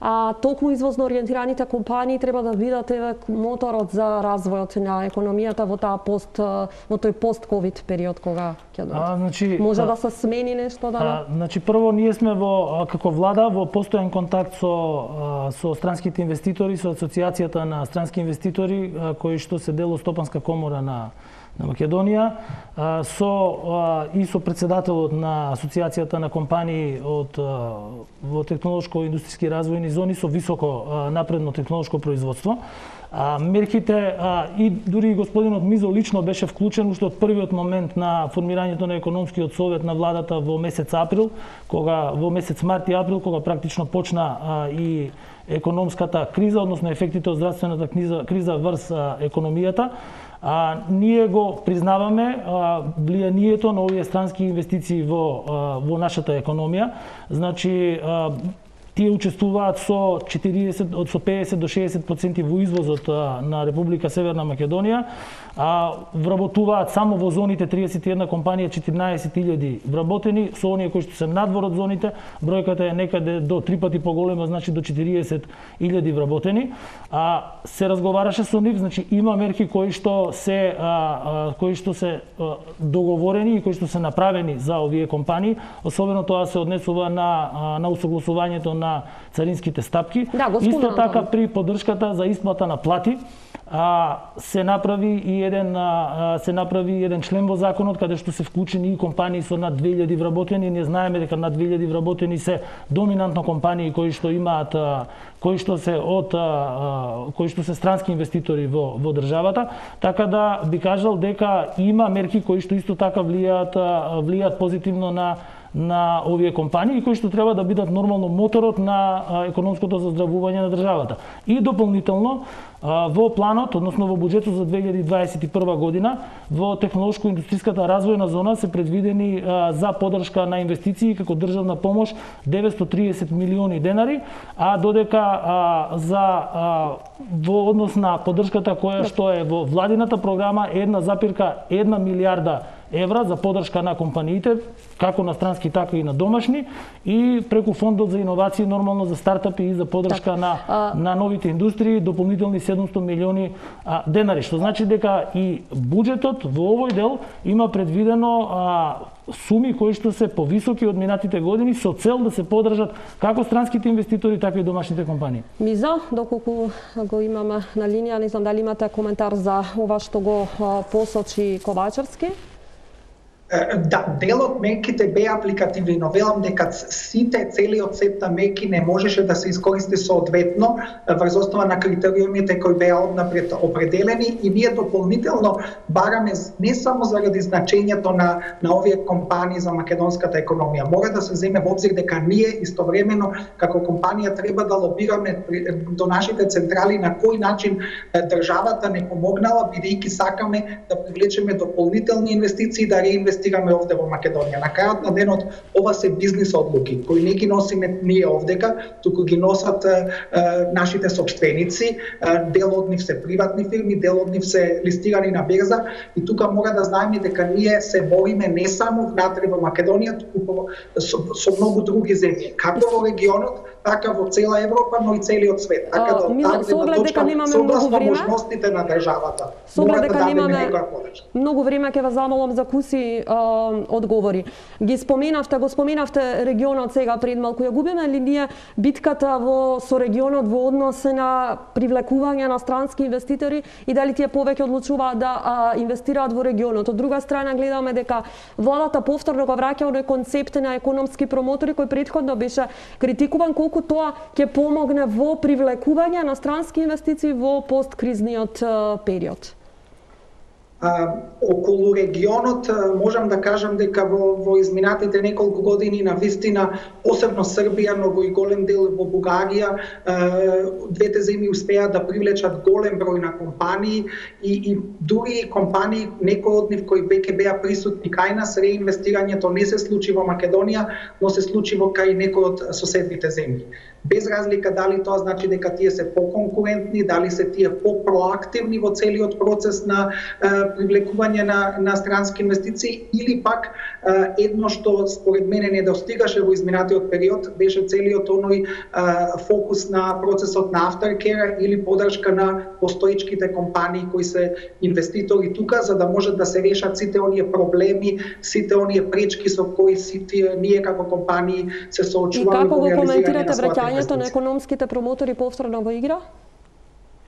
а толку извозно ориентираните компании треба да бидат еве моторот за развојот на економијата во таа пост во тој пост-ковид период кога ќе дојде. Значи, може а, да се смени нешто да? А, значи прво ние сме во како влада во постојан контакт со со странските инвеститори, со асоциацијата на странски инвеститори кои што се дел од Стопанска комора на на Македонија, со и со председателот на асоциацијата на компании од во технолошко-индустријски развојни зони со високо напредно технолошко производство. А, мерките а, и дури господинот Мизо лично беше вклучен уште од првиот момент на формирањето на економскиот совет на владата во месец април, кога во месец март и април кога практично почна а, и економската криза, односно ефектите од здравствената криза, криза врз а, економијата. А, ние го признаваме а, влијанието на овие странски инвестиции во, а, во нашата економија. Значи, а, тие учествуваат со четириесет од со педесет до шеесет проценти во извозот а, на Република Северна Македонија, а вработуваат само во зоните триесет и една компанија четиринаесет илјади вработени, со оние кои што се надвор од зоните, бројката е некаде до три пати поголема, значи до четириесет илјади вработени. А се разговараше со нив, значи има мерки кои што се а, а, кои што се а, договорени и кои што се направени за овие компании, особено тоа се однесува на а, на усогласувањето на царинските стапки. Да, исто така при поддршката за исплата на плати, а, се направи и еден а, се направи еден член во законот каде што се вклучени и компании со над две илјади вработени. Ние знаеме дека над две илјади вработени се доминантно компании кои што имаат а, кои што се од а, кои што се странски инвеститори во во државата, така да би кажал дека има мерки кои што исто така влијаат влијаат позитивно на на овие компании кои што треба да бидат нормално моторот на економското заздравување на државата. И дополнително во планот, односно во буџетот за две илјади дваесет и прва година, во технолошко-индустријската развојна зона се предвидени за поддршка на инвестиции како државна помош деветстотини и триесет милиони денари, а додека за во однос на поддршката која што е во владината програма една запирка една милијарда евра за поддршка на компаниите, како на странски, така и на домашни, и преку фондот за иновации нормално за стартапи и за поддршка так, на а... на новите индустрии дополнителни седумстотини милиони а, денари, што значи дека и буџетот во овој дел има предвидено а, суми кои што се повисоки од минатите години со цел да се поддржат како странските инвеститори, така и домашните компании. Мизо, доколку го имаме на линија, не знам дали имате коментар за ова што го посочи Ковачевски? Да, дел од мерките беа апликативни, но велам дека сите, целиот сет на мерки не можеше да се искористи соодветно врз основа на критериумите кои беа однапред определени, и ние дополнително бараме не само заради значењето на на овие компании за македонската економија. Мора да се земе во обзир дека ние истовремено како компанија треба да лобираме до нашите централи на кој начин државата не помогнала, бидејќи сакаме да привлечеме дополнителни инвестиции, да реинвестираме овде во Македонија. На крајот на денот ова се бизнис одлуки кои не ги носиме ние овдека, туку ги носат е, нашите сопственици, е, дел од нив се приватни фирми, дел од нив се листирани на берза, и тука мора да знаеме дека ние се бориме не само внатре во Македонија, туку со, со многу други земји, како во регионот, така во цела Европа, но и целиот свет. Така да од таа точка, согласно можностите на државата, мора да дадеме некоја подршка. Многу време ќе ве замолам за куси а, одговори. Ги споменавте, го споменавте регионот сега пред малку. Ја губиме ли ние битката во со регионот во однос на привлекување на странски инвеститори и дали тие повеќе одлучуваат да а, инвестираат во регионот? Од друга страна гледаме дека владата повторно го враќа оној концепт на економски промотори кој претходно беше критикуван, колку тоа ќе помогне во привлекување на странски инвестиции во посткризниот период. А, околу регионот можам да кажам дека во, во изминатите неколку години на вистина, посебно Србија, но во и голем дел во Бугарија, двете земји успеа да привлечат голем број на компании и, и дури компании, некои од нив кои веќе беа присутни кај нас, реинвестирањето не се случи во Македонија, но се случи во кај некои од соседните земји. Без разлика дали тоа значи дека тие се поконкурентни, дали се тие попроактивни во целиот процес на привлекување на, на странски инвестиции, или пак едно што според мене не достигаше во изминатиот период беше целиот оној фокус на процесот на aftercare или поддршка на постоечките компании кои се инвеститори тука, за да можат да се решат сите оние проблеми, сите оние пречки со кои сите ние како компании се соочуваме во реализирање на својата инвестиција. На економските промотори повторно во игра?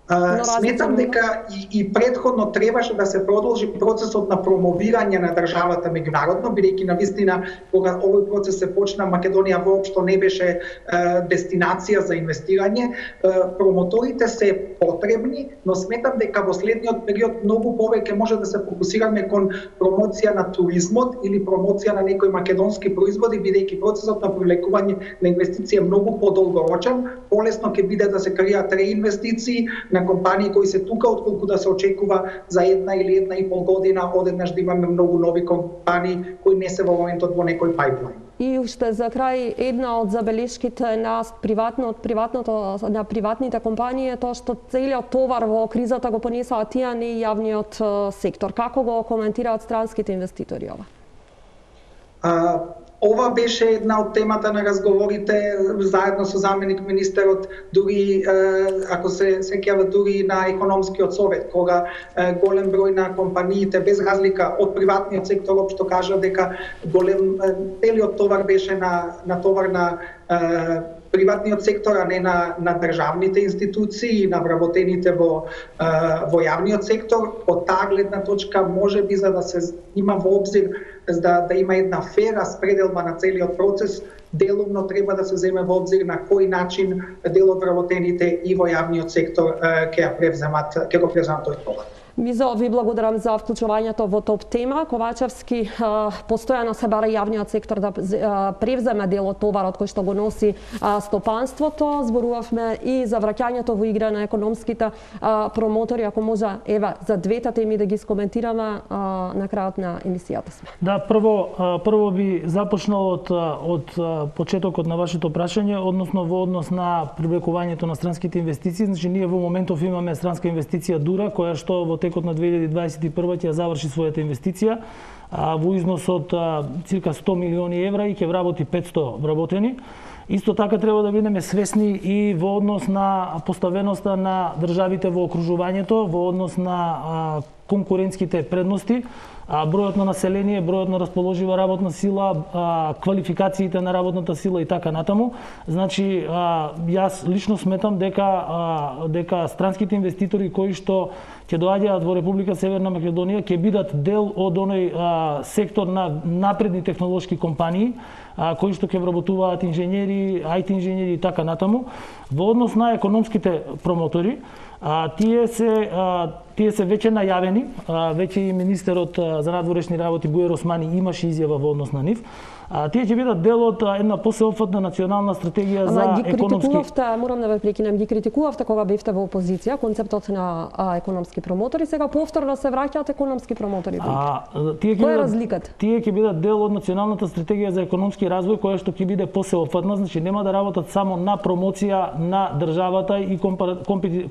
Uh, сметам дека и, и предходно требаше да се продолжи процесот на промовирање на државата меѓународно, бидејќи навистина кога овој процес се почна, Македонија воопшто не беше uh, дестинација за инвестирање. Uh, промоторите се потребни, но сметам дека во следниот период многу повеќе може да се фокусираме кон промоција на туризмот или промоција на некои македонски производи, бидејќи процесот на привлекување на инвестиција е многу подолгорочен, полесно ќе биде да се креираат реинвестиции на компании кои се тука, отколку да се очекува за една или една и пол година одеднаш да имаме многу нови компании кои не се во моментот во некој пайплайн. И уште за крај една од забелешките на приватно од приватното на приватните компании е тоа што целиот товар во кризата го понесаа тие, не и јавниот сектор. Како го коментираат странските инвеститори ова? А, Ова беше една од темата на разговорите заедно со заменик министерот, дури ако се сеќавате дури на економскиот совет, кога голем број на компаниите без разлика од приватниот сектор општо кажа дека голем целиот товар беше на на товар на приватниот сектор, а не на, на државните институции, на вработените во, во јавниот сектор. Од таа гледна точка, може би за да се има во обзир, да, да има една фера спределба на целиот процес, делумно треба да се земе во обзир на кој начин дел од вработените и во јавниот сектор ќе ја превземат, ќе го превземат тој товар. Мизо, ви благодарам за вклучувањето во топ тема. Ковачевски постојано се бара јавниот сектор да превземе дел од товарот кој што го носи стопанството. Зборувавме и за враќањето во игра на економските промотори. Ако може, ева, за двете теми да ги скоментираме на крајот на емисијата сме. Да, прво, прво би започнал од, од почетокот на вашето прашање, односно во однос на привлекувањето на странските инвестиции. Значи, ние во моментов имаме странска инвестиција Дура, која што во текот на две илјади дваесет и прва ќе заврши својата инвестиција а, во износ од а, цирка сто милиони евра и ќе вработи петсто вработени. Исто така треба да бидеме свесни и во однос на поставеноста на државите во окружувањето, во однос на а, конкурентските предности, а, бројот на население, бројот на расположива работна сила, а, квалификациите на работната сила и така натаму. Значи, а, јас лично сметам дека а, дека странските инвеститори кои што ќе доаѓаат во Република Северна Македонија ќе бидат дел од оној а, сектор на напредни технолошки компании, а, кои што ќе вработуваат инженери, ај ти инженери и така натаму. Во однос на економските промотори, а, тие се а, тие се веќе најавени, а, веќе и министерот а, за надворешни работи Буер Османи имаше изјава во однос на нив. А, тие ќе бидат дел од една посеопфатна национална стратегија Ама, за ги економски... критикувавте, морам да ве прекинем, ги критикувавте кога бевте во опозиција, концептот на а, економски промотори, сега повторно се враќаат економски промотори. А, тие Која е бидат, разликата? Тие ќе бидат дел од националната стратегија за економски развој, која што ќе биде посеопфатна, значи нема да работат само на промоција на државата и компара,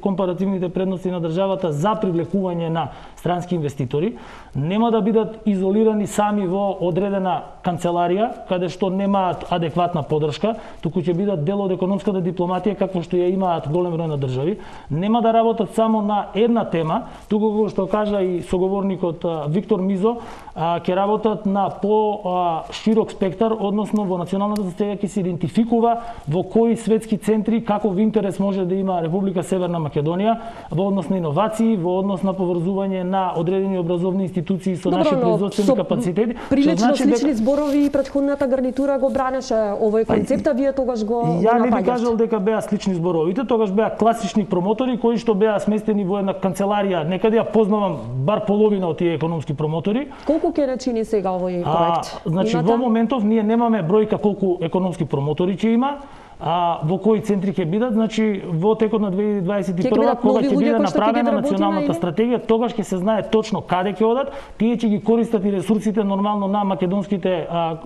компаративните предности на државата за привлекување на странски инвеститори, нема да бидат изолирани сами во одредена канцеларија, каде што немаат адекватна поддршка, туку ќе бидат дел од економската дипломатија какво што ја имаат голем број на држави. Нема да работат само на една тема, туку како што кажа и соговорникот Виктор Мизо, ќе работат на по-широк спектар, односно во националната стратегија ќе се идентификува во кои светски центри каков интерес може да има Република Северна Македонија во однос на иновации, во однос на поврзување на одредени образовни институции со наши производствени капацитети. Прилично значи слични дека... зборови и претходната гарнитура го бранеше овој концепт, а вие тогаш го Ја не би кажал дека беа слични зборовите, тогаш беа класични промотори кои што беа сместени во една канцеларија. Некаде ја познавам бар половина од тие економски промотори. Колку ќе не чини сега овој проект? А, значи Имате? Во моментов ние немаме бројка колку економски промотори ќе има. А во кои центри ќе бидат, значи во текот на две илјади дваесет и прва кога ќе биде направена националната стратегија, тогаш ќе се знае точно каде ќе одат, тие ќе ги користат и ресурсите нормално на македонските а,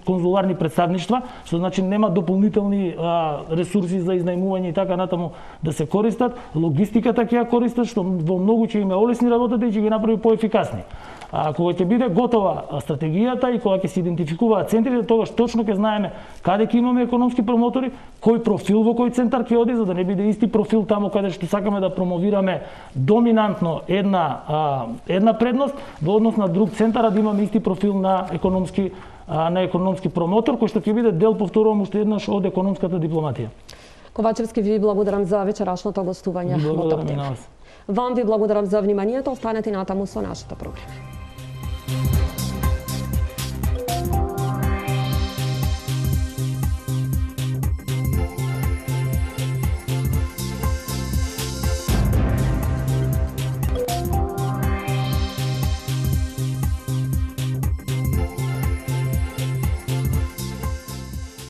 конзуларни представништва, што значи нема дополнителни а, ресурси за изнајмување и така натаму да се користат, логистиката ќе ја користат, што во многу ќе им олесни работата и ќе ги направи поефикасни. А кога ќе биде готова стратегијата и кога ќе се идентификуваат центрите, тогаш точно ќе знаеме каде ќе имаме економски промотори, кој профил во кој центар ќе оди, за да не биде исти профил таму каде што сакаме да промовираме доминантно една а, една предност во однос на друг центар, а да имаме исти профил на економски а, на економски промотор кој што ќе биде дел, повторувам уште еднаш, од економската дипломатија. Ковачевски, ви благодарам за вечерашното гостување во Топ тема. Вам ви благодарам за вниманието, останете натаму со нашата програма.